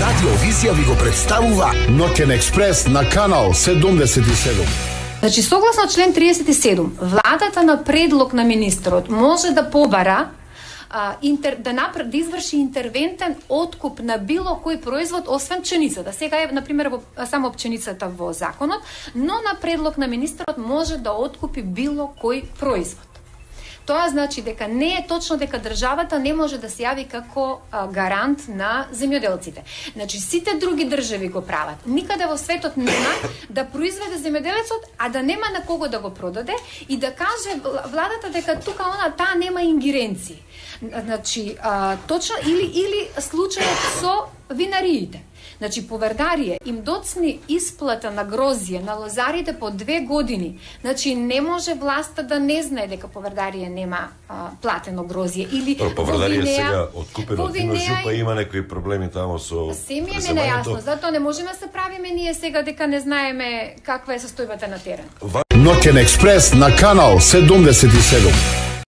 Радио Визија ви го представува Ноќен експрес на канал 77. Значи, согласно член 37, владата на предлог на министерот може да побара да изврши интервентен откуп на било кој производ, освен пченицата. Сега е, например, само пченицата во законот, но на предлог на министерот може да откупи било кој производ. Тоа значи дека не е точно дека државата не може да се јави како гарант на земјоделците. Значи, сите други држави го прават. Никаде во светот нема да произведе земјоделецот, а да нема на кого да го продаде и да каже владата дека тука таа нема ингеренции. Значи, точно или случајот со винариите. Значи, Поврдарие им доцни исплата на грозје на лозарите по 2 години. Значи, не може власта да не знае дека Поврдарие нема платено грозје. Или Поврдарие сега откупено од Жупа има некои проблеми тамо со се ми е нејасно, затоа не можеме да се правиме ние сега дека не знаеме каква е состојбата на терен. Ноќен експрес на канал 77.